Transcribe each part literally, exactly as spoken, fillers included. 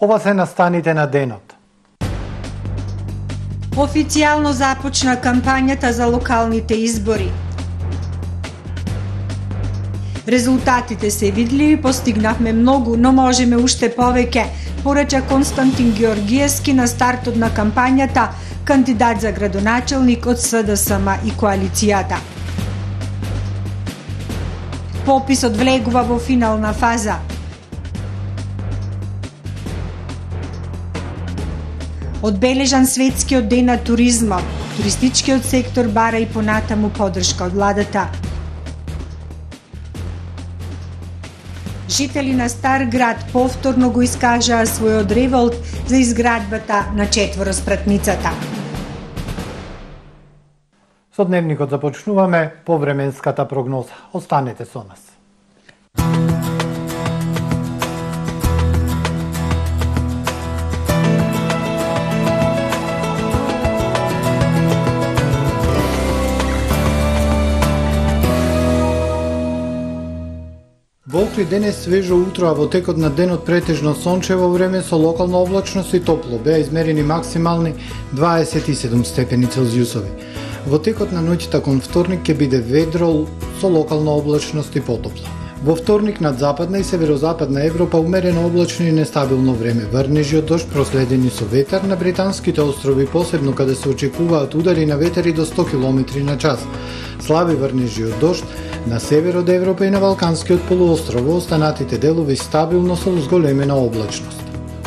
Ова се настаните на денот. Официјално започна кампањата за локалните избори. Резултатите се видливи, постигнавме многу, но можеме уште повеќе, порача Константин Георгиевски на стартот на кампањата, кандидат за градоначелник од С Д С М и коалицијата. Пописот влегува во финална фаза. Одбележан светскиот ден на туризмот. Туристичкиот сектор бара и понатаму поддршка од владата. Жители на Стар град повторно го искажаа својот револт за изградбата на четвороспратницата. Со дневникот започнуваме по временската прогноза. Останете со нас. Во Охрид денес свежо утро, а во текот на денот претежно сончево време со локална облачност и топло. Беа измерени максимални дваесет и седум степени Целзиусови. Во текот на ноќта кон вторник ќе биде ведро со локална облачност и потопло. Во вторник над западна и северозападна Европа умерено облачно и нестабилно време. Врнежи од дожд проследени со ветер на британските острови, посебно каде се очекуваат удари на ветери до сто километри на час. Слаби врнежи од дожд на север од Европа и на Балканскиот полуостров, во останатите делови стабилно со зголемена облачност.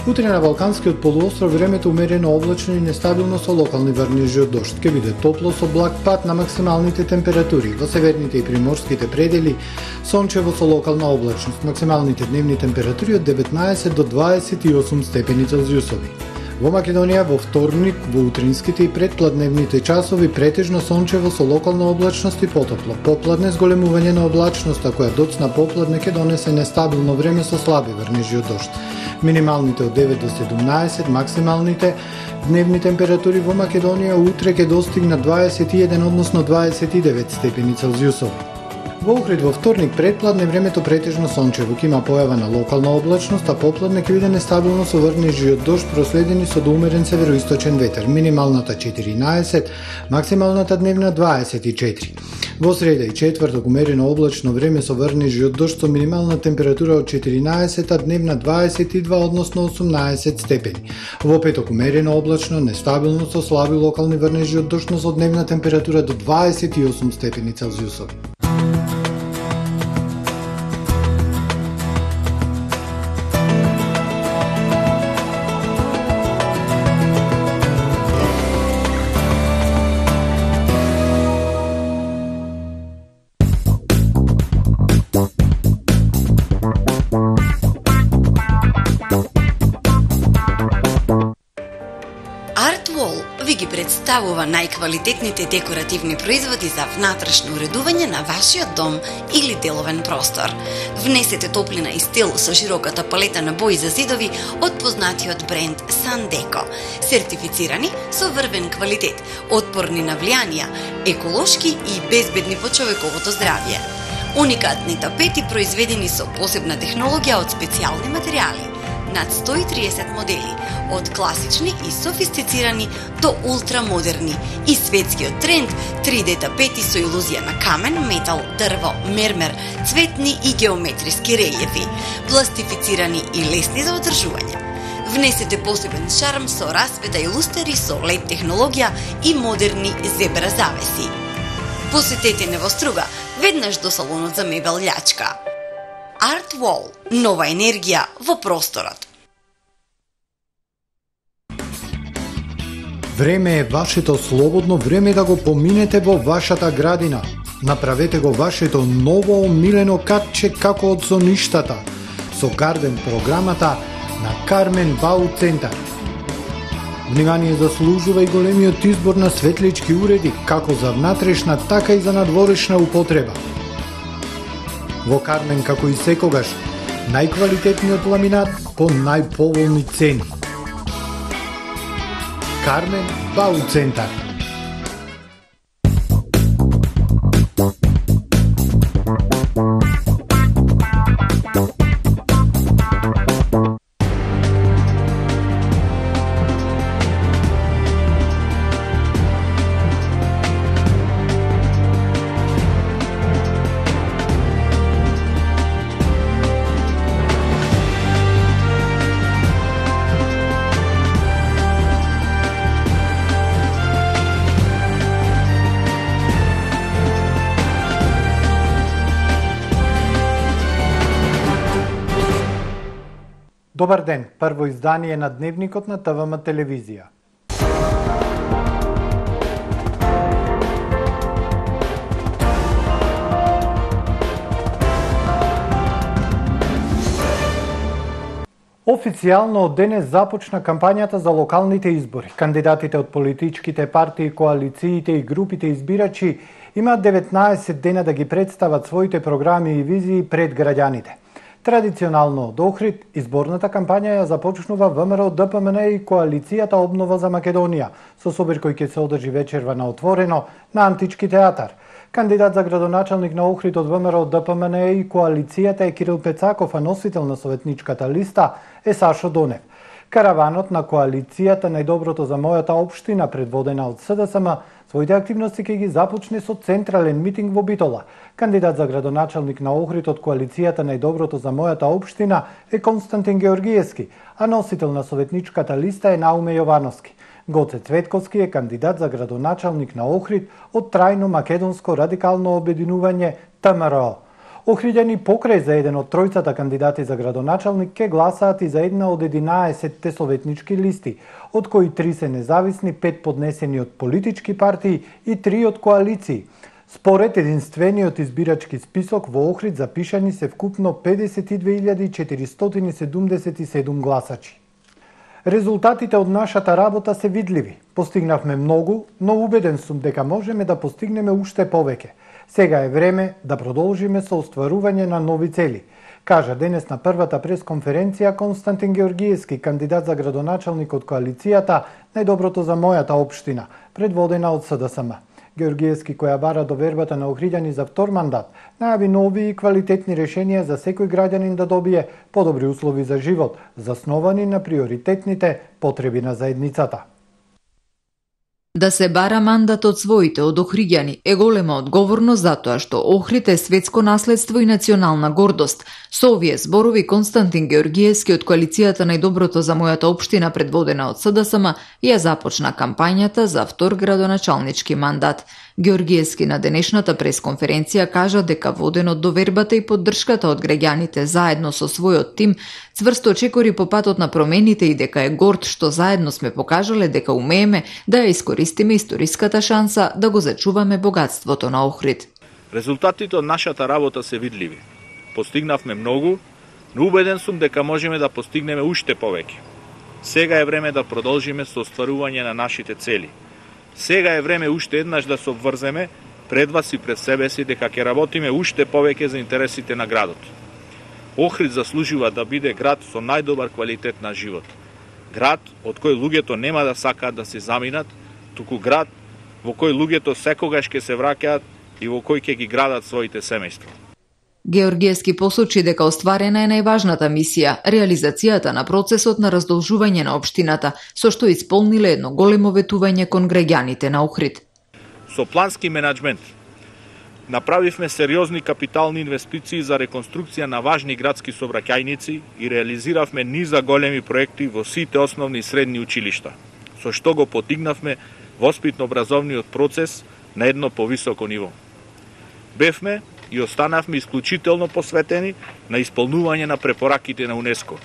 Утре на Балканскиот полуостров времето умерено облачно и нестабилно со локални врнежи од дожд. Ке биде топло со благ пад на максималните температури. Во северните и приморските предели сончево со локална облачност. Максималните дневни температури од деветнаесет до дваесет и осум степени Целзиусови. Во Македонија во вторник, во утринските и предпладневните часови претежно сончево со локална облачност и потопло. Попладне зголемување на облачноста која доцна попладне ќе донесе нестабилно време со слаби врнежи од дожд. Минималните од девет до седумнаесет, максималните дневни температури во Македонија утре ќе достигнат дваесет и еден, односно дваесет и девет степени Целзиусови. Во Охрид во вторник предпладне времето претежно сончево, ќе има појава на локална облачност, а попладне ќе биде нестабилно со врнежи од дожд проследени со доумерен североисточен ветер. Минималната четиринаесет, максималната дневна дваесет и четири. Во среда и четврток умерено облачно време со врнежи од дожд со минимална температура од четиринаесет, а дневна дваесет и два, односно осумнаесет степени. Во петок умерено облачно, нестабилно со слаби локални врнежи од дожд, но со дневна температура до дваесет и осум степени Целзиусови. Представува најквалитетните декоративни производи за внатрешно уредување на вашиот дом или деловен простор. Внесете топлина и стил со широката палета на бои за зидови од познатиот бренд Sandeko, сертифицирани со врвен квалитет, отпорни на влијанија, еколошки и безбедни по човековото здравје. Уникатни тапети произведени со посебна технологија од специјални материјали. Над сто и триесет модели, од класични и софистицирани до ултрамодерни, и светскиот тренд три Д тапети со илузија на камен, метал, дрво, мермер, цветни и геометриски релјефи, пластифицирани и лесни за одржување. Внесете посебен шарм со расвета и лустери со лед технологија и модерни зебра завеси. Посетете Невоструга, веднаш до салонот за мебел Љачка. Art Wall. Нова енергија во просторот. Време е вашето слободно време да го поминете во вашата градина. Направете го вашето ново омилено катче како од соништата со Гарден програмата на Кармен Бау Центар. Внимание заслужува и големиот избор на светлички уреди, како за внатрешна, така и за надворешна употреба. Во Кармен, како и секогаш, најквалитетниот ламинат по најповолни цени. Кармен Бау Центар. Добар ден, прво издание на Дневникот на ТВМ телевизија. Официјално од денес започна кампањата за локалните избори. Кандидатите од политичките партии, коалициите и групите избирачи имаат деветнаесет дена да ги представат своите програми и визии пред граѓаните. Традиционално од Охрид, изборната кампања ја започнува ВМРО Д П М Н и коалицијата Обнова за Македонија, со собир кој ќе се одржи вечерва на отворено на Антички театар. Кандидат за градоначалник на Охрид од ВМРО Д П М Н и коалицијата е Кирил Пецаков, а носител на советничката листа е Сашо Донев. Караванот на коалицијата Најдоброто за мојата општина, предводена од С Д С М, своите активности ќе ги започне со централен митинг во Битола. Кандидат за градоначалник на Охрид од коалицијата Најдоброто за мојата општина е Константин Георгиевски, а носител на советничката листа е Науме Јовановски. Гоце Цветковски е кандидат за градоначалник на Охрид од Трајно македонско радикално обединување Т М Р О. Охриѓани покрај за еден од тројцата кандидати за градоначалник ке гласаат и за една од единаесетте советнички листи, од кои три се независни, пет поднесени од политички партии и три од коалиции. Според единствениот избирачки список во Охрид запишани се вкупно педесет и две илјади четиристотини седумдесет и седум гласачи. Резултатите од нашата работа се видливи. Постигнавме многу, но убеден сум дека можеме да постигнеме уште повеќе. Сега е време да продолжиме со остварување на нови цели, кажа денес на првата пресконференција Константин Георгиевски, кандидат за градоначалник од коалицијата Најдоброто за мојата општина, предводена од С Д С М. Георгиевски, која бара довербата на охриѓани за втор мандат, најави нови и квалитетни решенија за секој граѓанин да добие подобри услови за живот, засновани на приоритетните потреби на заедницата. Да се бара мандат од своите, од охриѓани, е голема одговорност затоа што Охрид е светско наследство и национална гордост. Со овие зборови Константин Георгиевски од коалицијата Најдоброто за мојата општина, предводена од С Д С М, ја започна кампањата за втор градоначалнички мандат. Георгиевски на денешната пресконференција кажа дека воден од довербата и поддршката од граѓаните заедно со својот тим, цврсто чекори по патот на промените и дека е горд што заедно сме покажале дека умееме да ја искористиме историската шанса да го зачуваме богатството на Охрид. Резултатите од нашата работа се видливи. Постигнавме многу, но убеден сум дека можеме да постигнеме уште повеќе. Сега е време да продолжиме со остварување на нашите цели. Сега е време уште еднаш да се обврземе пред вас и пред себе си дека ќе работиме уште повеќе за интересите на градот. Охрид заслужува да биде град со најдобар квалитет на живот. Град од кој луѓето нема да сакаат да се заминат, туку град во кој луѓето секогаш ќе се враќаат и во кој ќе ги градат своите семејства. Георгиевски посочи дека остварена е најважната мисија – реализацијата на процесот на раздолжување на општината, со што исполниле едно големо ветување кон граѓаните на Охрид. Со плански менеджмент направивме сериозни капитални инвестиции за реконструкција на важни градски сообраќајници и реализиравме низа големи проекти во сите основни и средни училишта, со што го потигнавме воспитно-образовниот процес на едно повисоко ниво. Бевме и останавме исклучително посветени на исполнување на препораките на УНЕСКО.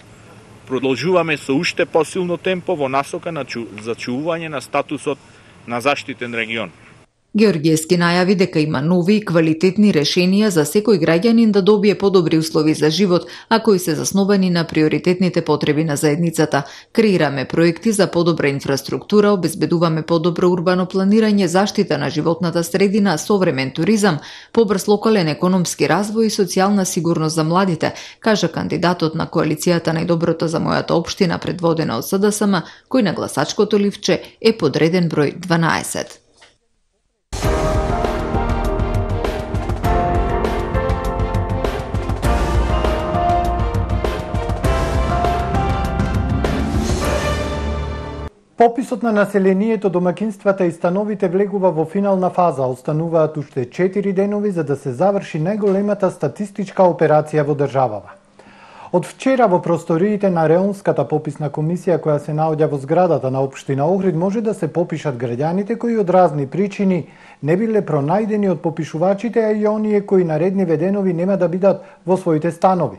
Продолжуваме со уште посилно темпо во насока на чу... зачувување на статусот на заштитен регион. Георгиевски најави дека има нови и квалитетни решенија за секој граѓанин да добие подобри услови за живот, а кои се засновани на приоритетните потреби на заедницата. Креираме проекти за подобра инфраструктура, обезбедуваме подобро урбано планирање, заштита на животната средина, современ туризам, побрз локален економски развој и социјална сигурност за младите, кажа кандидатот на коалицијата Најдоброто за мојата општина, предводена од С Д С М, кој на гласачкото ливче е подреден број дванаесет. Пописот на населението, домакинствата и становите влегува во финална фаза. Остануваат уште четири денови за да се заврши најголемата статистичка операција во државава. Од вчера во просториите на Реонската пописна комисија која се наоѓа во зградата на општина Охрид може да се попишат граѓаните кои од разни причини не биле пронајдени од попишувачите, а и оние кои наредниве денови нема да бидат во своите станови.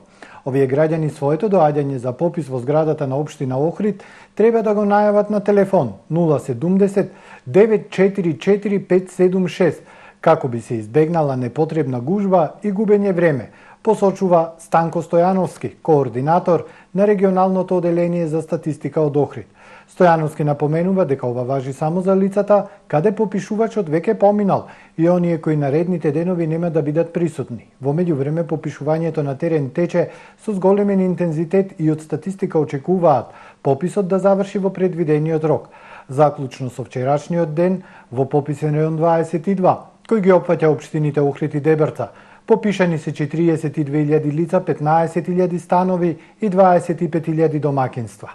Овие граѓани своето доаѓање за попис во зградата на општина Охрид треба да го најават на телефон нула седумдесет девет четири четири пет седум шест, како би се избегнала непотребна гужба и губење време, посочува Станко Стојановски, координатор на регионалното оделение за статистика од Охрид. Стојановски напоменува дека ова важи само за лицата каде попишувачот веќе поминал и оние кои наредните денови нема да бидат присутни. Во меѓувреме попишувањето на терен тече со зголемен интензитет и од статистика очекуваат пописот да заврши во предвидениот рок. Заклучно со вчерашниот ден во пописен рајон дваесет и два, кој ги опфаќа општините Охрид и Дебрца, попишани се четириесет и две илјади лица, петнаесет илјади станови и дваесет и пет илјади домакинства.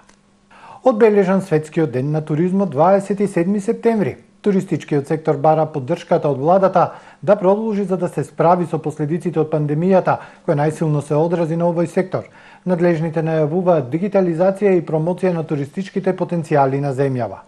Одбележан светскиот ден на туризмот дваесет и седми септември. Туристичкиот сектор бара поддршката од владата да продолжи за да се справи со последиците од пандемијата, која најсилно се одрази на овој сектор. Надлежните најавуваат дигитализација и промоција на туристичките потенцијали на земјава.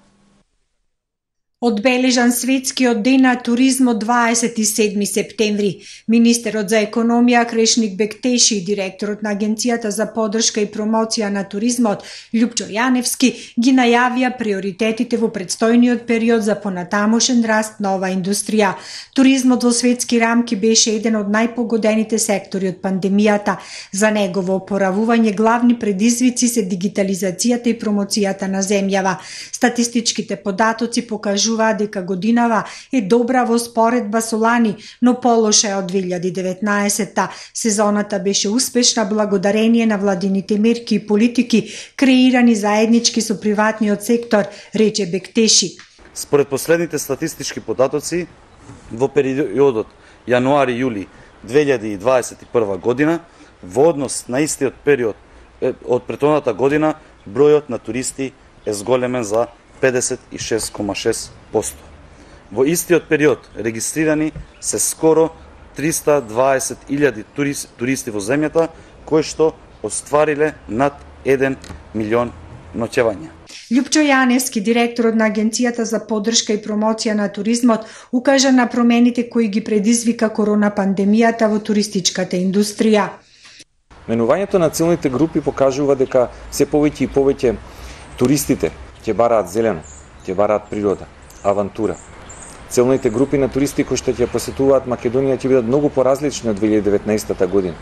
Одбележан светскиот ден на туризмот дваесет и седми септември. Министерот за економија Крешник Бектеши и директорот на Агенцијата за поддршка и промоција на туризмот Љупчо Јаневски ги најавија приоритетите во предстојниот период за понатамошен раст на оваа индустрија. Туризмот во светски рамки беше еден од најпогодените сектори од пандемијата. За негово опоравување главни предизвици се дигитализацијата и промоцијата на земјава. Статистичките податоци покажуваат дека годинава е добра во споредба со лани, но полоша е од две илјади и деветнаесетта. Сезоната беше успешна благодарение на владините мерки и политики, креирани заеднички со приватниот сектор, рече Бектеши. Според последните статистички податоци, во периодот јануари-јули две илјади и дваесет и прва година, во однос на истиот период од претходната година, бројот на туристи е зголемен за педесет и шест кома шест проценти. Во истиот период регистрирани се скоро триста дваесет илјади туристи во земјата, кои што оствариле над еден милион ноќевања. Љупчо Јаневски, директорот на Агенцијата за поддршка и промоција на туризмот, укажа на промените кои ги предизвика корона пандемијата во туристичката индустрија. Менувањето на целните групи покажува дека се повеќе и повеќе туристите ќе бараат зелено, ќе бараат природа, авантура. Целните групи на туристи кои што ќе посетуваат Македонија ќе бидат многу поразлични од две илјади и деветнаесетта година.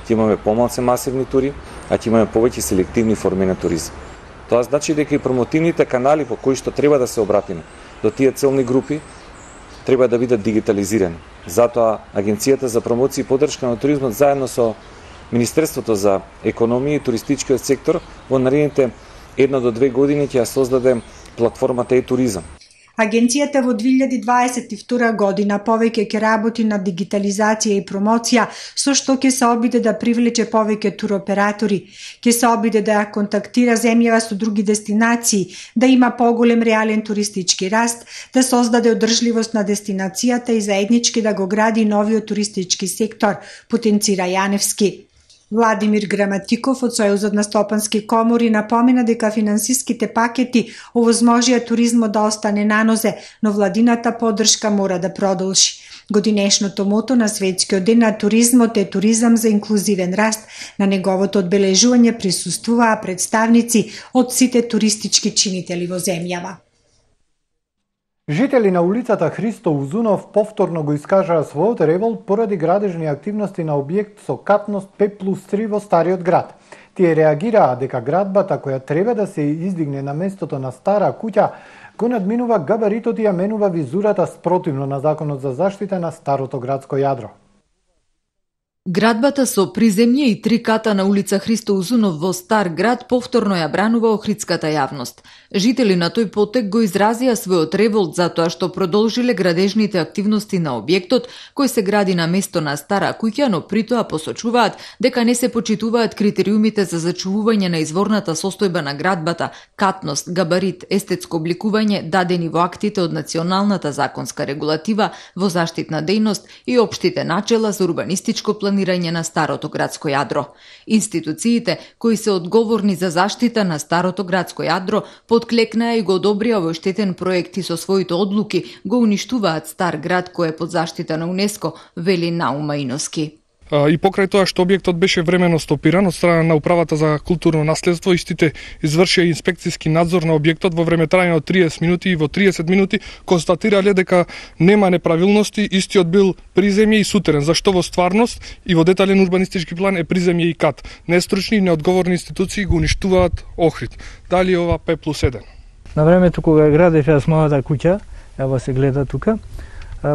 Ќе имаме помалку масивни тури, а ќе имаме повеќе селективни форми на туризам. Тоа значи дека и промотивните канали по кои што треба да се обратиме до тие целни групи треба да бидат дигитализирани. Затоа Агенцијата за промоција и поддршка на туризмот заедно со Министерството за економија и туристичкиот сектор во наредните една до две години ќе ја создаде платформата e-туризам. Агенцијата во две илјади дваесет и втора година повеќе ќе работи на дигитализација и промоција, со што ќе се обиде да привлече повеќе туроператори, ќе се обиде да ја контактира земјава со други дестинации, да има поголем реален туристички раст, да создаде одржливост на дестинацијата и заеднички да го гради новиот туристички сектор, потенцира Јаневски. Владимир Граматиков од Сојузот на стопански комори напомена дека финансиските пакети овозможија туризмот да остане на нозе, но владината поддршка мора да продолжи. Годинешното мото на Светскиот ден на туризмот е туризам за инклузивен раст. На неговото одбележување присуствуваа представници од сите туристички чинители во земјава. Жители на улицата Христо Узунов повторно го искажаа својот револт поради градежни активности на објект со катност пет плюс три во Стариот град. Тие реагираа дека градбата која треба да се издигне на местото на стара куќа го надминува габаритот и ја менува визурата спротивно на Законот за заштита на старото градско јадро. Градбата со приземје и три ката на улица Христо Узунов во Стар град повторно ја бранува охридската јавност. Жители на тој потек го изразија својот револт затоа што продолжиле градежните активности на објектот кој се гради на место на стара куќа, но притоа посочуваат дека не се почитуваат критериумите за зачувување на изворната состојба на градбата, катност, габарит, естетско обликување дадени во актите од националната законска регулатива во заштитна дејност и општите начела за урбанистичко планирање на старото градско јадро. Институциите кои се одговорни за заштита на старото градско јадро подклекнаа и го одобрија овој штетен проект и со своите одлуки го уништуваат Стар град кој е под заштита на УНЕСКО, вели Наума Иноски. И покрај тоа што објектот беше временно стопиран од страна на управата за културно наследство, истите извршија инспекцијски надзор на објектот во време трајање од триесет минути и во триесет минути констатирале дека нема неправилности, истиот бил приземје и сутерен, зашто во стварност и во детален урбанистички план е приземје и кат. Нестручни и неодговорни институции го уништуваат Охрид. Дали ова пет плюс еден? На времето кога градев јас мојата куќа, ево се гледа тука,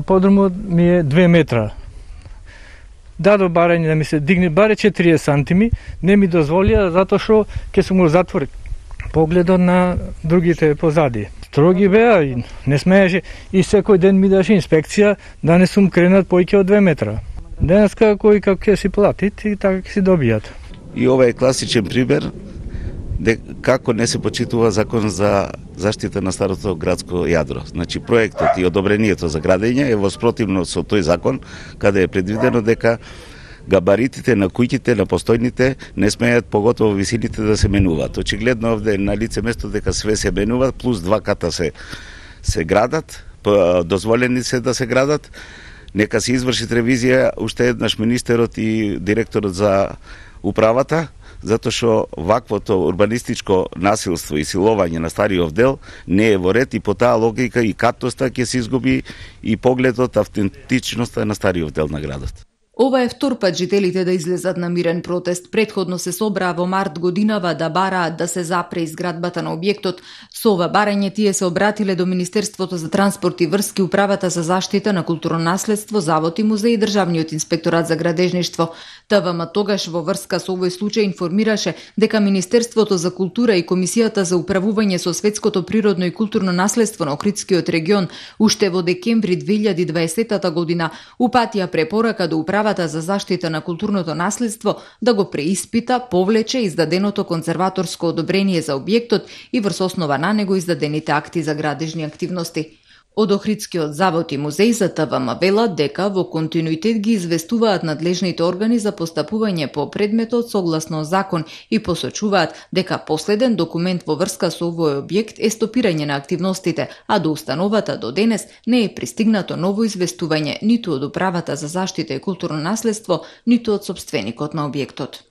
подрумот ми е две метра. Дадо барање да ми се дигне баре четириесет сантими, не ми дозволија затоа што ќе сум го затворил погледот на другите позади. Строги беа и не смееше и секој ден ми даше инспекција да не сум кренат поиќе од две метра. Денеска кој како ќе си платит и така ќе си добијат. И ова е класичен пример де како не се почитува закон за заштита на старото градско јадро. Значи проектот и одобрението за градење е во спротивно со тој закон, каде е предвидено дека габаритите на куќите, на постојните не смеат, поготово висините, да се менуваат. Очигледно овде е на лице место дека све се менува, плюс два ката се се градат, дозволени се да се градат. Нека се изврши ревизија уште еднаш министерот и директорот за управата, затоа што ваквото урбанистичко насилство и силување на стариот дел не е во ред и по таа логика и катоста ќе се изгуби и погледот, автентичноста на стариот дел на градот. Ова е втор пат жителите да излезат на мирен протест. Предходно се собраа во март годинава да бараат да се запре изградбата на објектот. Со ова барање тие се обратиле до Министерството за транспорт и врски, Управата за заштита на културно наследство, Завод и музеј и Државниот инспекторат за градежништво. ТВМ тогаш во врска со овој случај информираше дека Министерството за култура и Комисијата за управување со светското природно и културно наследство на Охридскиот регион уште во декември две илјади и дваесета година упатија препорака до Управата за заштита на културното наследство да го преиспита, повлече издаденото конзерваторско одобрение за објектот и врз основа на него издадените акти за градежни активности. Од Охридскиот завод и музеј за ТВМ велат дека во континуитет ги известуваат надлежните органи за постапување по предметот согласно закон и посочуваат дека последен документ во врска со овој објект е стопирање на активностите, а до установата до денес не е пристигнато ново известување ниту од Управата за заштита и културно наследство, ниту од сопственикот на објектот.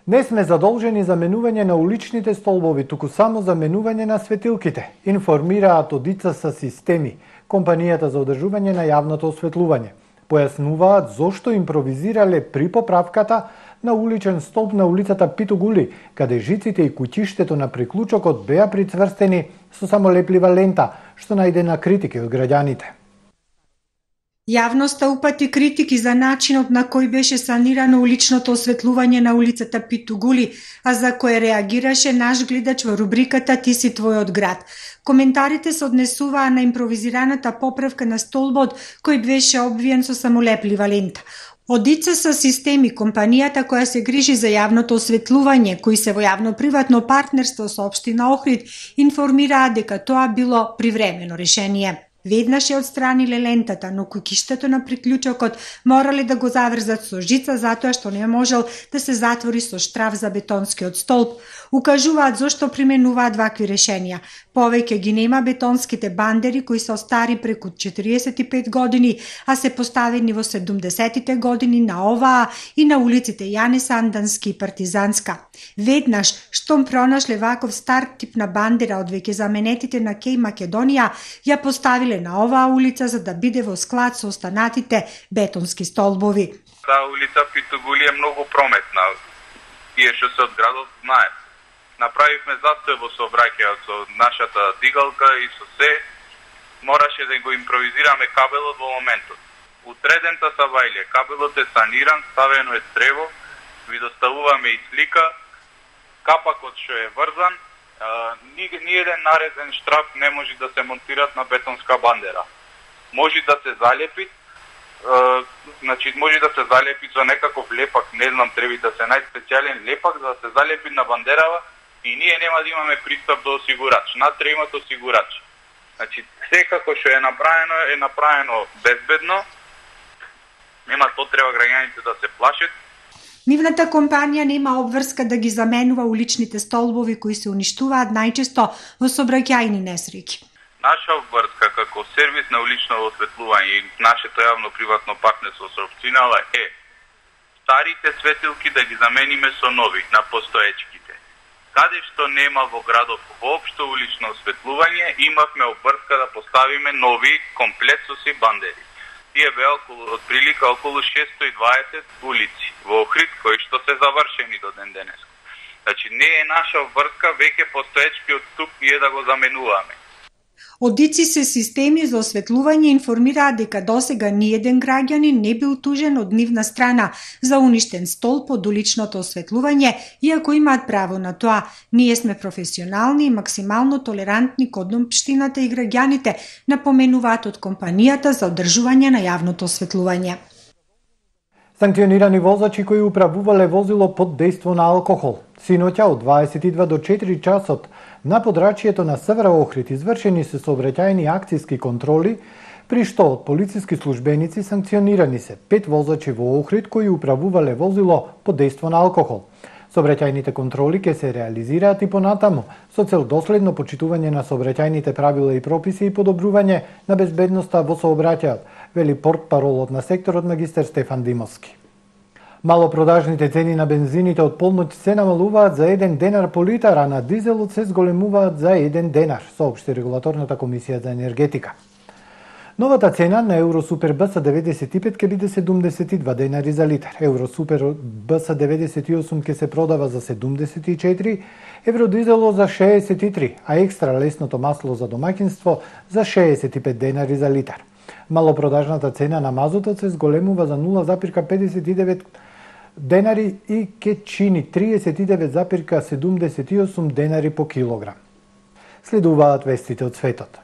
Не сме задолжени за менување на уличните столбови, туку само за менување на светилките, информираат од И Ц С системи, компанијата за одржување на јавното осветлување. Појаснуваат зошто импровизирале при поправката на уличен столб на улицата Питугули, каде жиците и куќиштето на приклучокот беа прицврстени со само леплива лента, што најде на критики од граѓаните. Јавноста упати критики за начинот на кој беше санирано уличното осветлување на улицата Питугули, а за кое реагираше наш гледач во рубриката Ти си твојот град. Коментарите се однесуваа на импровизираната поправка на столбот кој беше обвиен со самолеплива лента. Од И Ц С системи, компанијата која се грижи за јавното осветлување, кои се во јавно-приватно партнерство со општина Охрид, информираа дека тоа било привремено решение. Веднаш ја отстраниле лентата, но куќиштето на приклучокот морале да го заврзат со жица затоа што не можел да се затвори со штраф за бетонскиот столб. Укажуваат зошто применуваат вакви решенија. Повеќе ги нема бетонските бандери кои се остари преку четириесет и пет години, а се поставени во седумдесетите години на оваа и на улиците Јане Сандански и Партизанска. Веднаш, штом пронашле ваков стар тип на бандера од веќе заменетите на Кеј Македонија, ја поставиле на оваа улица за да биде во склад со останатите бетонски столбови. Таа улица Питугули е многу прометна. Тие што се од градот знаат. Направивме застој во сообраќајот со нашата дигалка и со се. Мораше да го импровизираме кабелот во моментот. Утредента Савајле, кабелот е саниран, ставено е трево, ви доставуваме и слика, капакот што е врзан, ни, ни еден нареден штраф не може да се монтират на бетонска бандера. Може да се залепи, е, значи може да се залепи со некаков лепак, не знам, треба да се најспецијален лепак за да се залепи на бандерава и ние нема да имаме пристап до осигурач. Натре имат осигурач. Значи секако што е направено е направено безбедно. Нема потреба граѓаните да се плашат. Нивната компанија нема обврска да ги заменува уличните столбови кои се уништуваат најчесто во сообраќајни несреќи. Наша обврска како сервис на улично осветлување и нашето јавно-приватно партнерство со општината е старите светилки да ги замениме со нови на постоечките. Каде што нема во градов воопшто улично осветлување, имавме обврска да поставиме нови комплет со си бандери. Тие беа околу, од прилика околу шестстотини и дваесет улици во Охрид, кои што се завршени до ден денес. Значи не е наша обврска веќе постоечкиот ступ ние да го заменуваме. Од ИЦИ се системи за осветлување информираат дека досега ниеден граѓанин не бил тужен од нивна страна за уништен столб од уличното осветлување, иако имаат право на тоа. Ние сме професионални и максимално толерантни кон општината и граѓаните, напоменуваат од компанијата за одржување на јавното осветлување. Санкционирани возачи кои управувале возило под дејство на алкохол. Синоќа од дваесет и два до четири часот на подрачјето на Север Охрид извршени се сообраќајни акцијски контроли, при што од полициски службеници санкционирани се пет возачи во Охрид кои управувале возило под дејство на алкохол. Сообраќајните контроли ќе се реализираат и понатаму со цел доследно почитување на сообраќајните правила и прописи и подобрување на безбедноста во сообраќајот, вели портпаролот на секторот магистер Стефан Димовски. Малопродажните цени на бензините од полноќ се намалуваат за еден денар по литар, а на дизелот се зголемуваат за еден денар, соопшти регулаторната комисија за енергетика. Новата цена на Евросупер БС деветдесет и пет ќе биде седумдесет и два денари за литар, Евросупер БС деветдесет и осум ќе се продава за седумдесет и четири, Евродизело за шеесет и три, а екстра лесното масло за домаќинство за шеесет и пет денари за литар. Малопродажната цена на мазутот се зголемува за нула запирка педесет и девет денари и ќе чини триесет и девет запирка седумдесет и осум денари по килограм. Следуваат вестите од светот.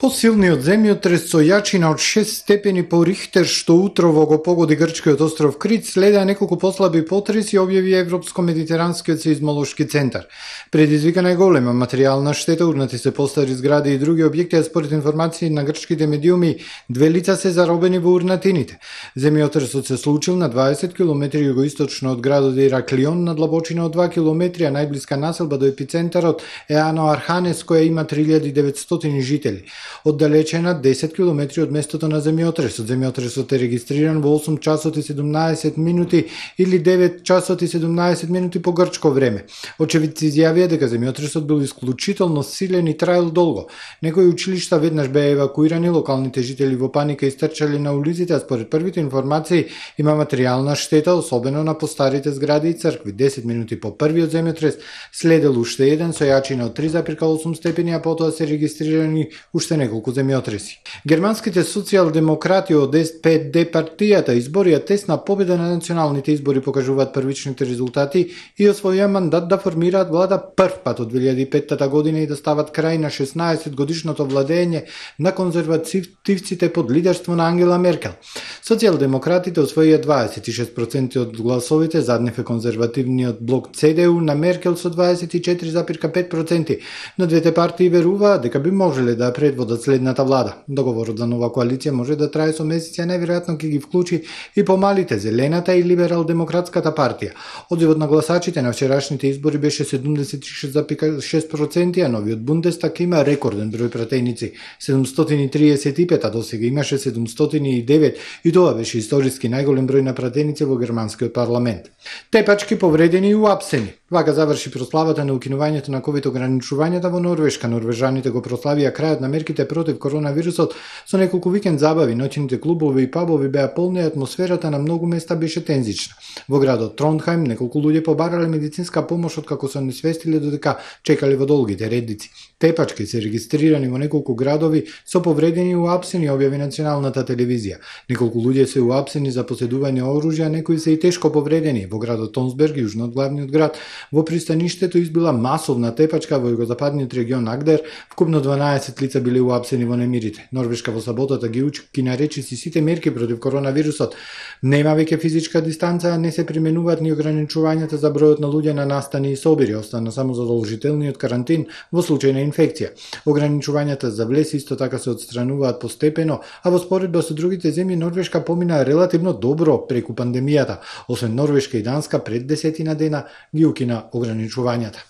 Посилниот земјотрес со јачина од шест степени по Рихтер што утрово го погоди грчкиот остров Крит следеа неколку послаби потреси, објави Европско-медитеранскиот сеизмолошки центар. Предизвикана е голема материјална штета, урнати се постари згради и други објекти, а според информации на грчките медиуми, две лица се заробени во урнатините. Земјотресот се случил на дваесет километри југоисточно од градот Ираклион на длабочина од два километри, а најблиска населба до епицентарот е Ано Арханес, која има три илјади и деветстотини жители. Оддалечена десет километри од местото на земјотресот. Земјотресот е регистриран во осум часот и седумнаесет минути или девет часот и седумнаесет минути по грчко време. Очевидци изјавија дека земјотресот бил исклучително силен и траел долго. Некои училишта веднаш беа евакуирани, локалните жители во паника истрчале на улиците, а според првите информации има материјална штета, особено на постарите згради и цркви. десет минути по првиот земјотрес следел уште еден со јачина од три запирка осум степени, а потоа се регистрирани уште неколку земјотреси. Германските социјалдемократи од Ес Пе Де партијата изборија тесна победа на националните избори, покажуваат првичните резултати и освоија мандат да формираат влада прв пат од две илјади и петта година и да стават крај на шеснаесет годишното владење на конзервативците под лидерство на Ангела Меркел. Социјалдемократите освоија дваесет и шест проценти од гласовите, заднев е конзервативниот блок Це Де У на Меркел со дваесет и четири запирка пет проценти, но двете партии веруваат дека би можеле да предводат следната влада. Договорот за нова коалиција може да трае со месеци, а најверојатно ќе ги вклучи и помалите Зелената и Либерал-демократската партија. Одзивот на гласачите на вчерашните избори беше седумдесет и шест запирка шест проценти, а новиот Бундестаг има рекорден број пратеници седумстотини и триесет и пет, а досега имаше седумстотини и девет и тоа беше историски најголем број на пратеници во германскиот парламент. Тепачки повредени и уапсени. Вака заврши прославата на укинувањето на ковид ограничувањата во Норвешка. Норвежаните го прославија крајот на мерките против коронавирусот со неколку викенд забави, ноќните клубови и пабови беа полни, атмосферата на многу места беше тензична. Во градот Трондхаим неколку луѓе побарале медицинска помош откако се несвестиле додека чекале во долгите редици. Тепачки се регистрирани во неколку градови со повредени и уапсени, објави националната телевизија. Неколку луѓе се уапсени за поседување оружја, некои се и тешко повредени. Во градот Тонсберг, јужно од главниот град, во пристаништето избила масовна тепачка во југозападниот регион Агдер, вкупно дванаесет лица биле уапсени во немирите. Норвешка во саботата ги учки наречи си сите мерки против коронавирусот. Нема веќе физичка дистанца, не се применуваат ни ограничувањата за бројот на луѓе на настани и собири, остана само задолжителниот карантин во случај на инфекција. Ограничувањата за влез исто така се отстрануваат постепено, а во споредба со другите земји Норвешка помина релативно добро преку пандемијата. Освен Норвешка и Данска пред десетина дена ги укина ограничувањата.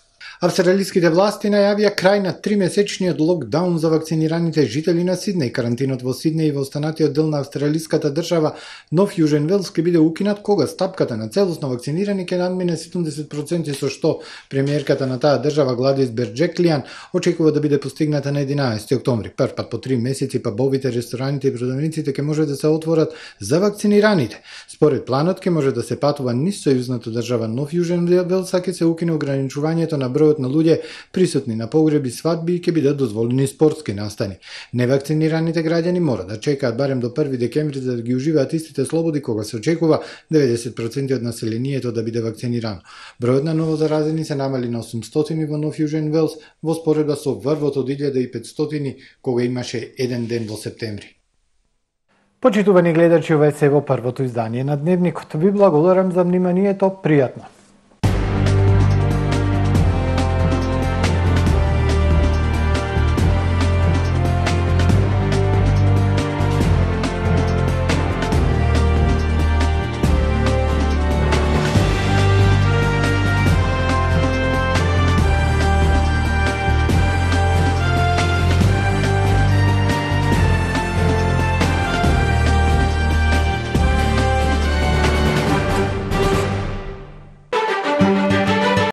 Австралиските власти најавија крај на тримесечниот локдаун за вакцинираните жители на Сиднеј. Карантинот во Сиднеј и во останатиот дел на австралиската држава Нов Јужен Велс ќе биде укинат кога стапката на целосно вакцинирани ќе надмине седумдесет проценти, со што премиерката на таа држава Гладис Берџеклијан очекува да биде постигната на единаесети октомври. Прв пат по три месеци пабовите, рестораните и продавниците ќе може да се отворат за вакцинираните. Според планот ќе може да се патува низ сојузната држава Нов Јужен Велс, а ќе се укине ограничувањето на бројот на луѓе присутни на погреби, свадби и ќе бидат дозволени спортски настани. Невакцинираните граѓани мора да чекаат барем до први декември за да ги уживаат истите слободи, кога се очекува деветдесет проценти од населението да биде вакцинирано. Бројот на новозаразени се намали на осумстотини во Нов Јужен Велс во споредба со врвот од илјада и петстотини кога имаше еден ден во септември. Почитувани гледачи, ова е се во првото издание на Дневникот. Ви благодарам за вниманието, пријатно.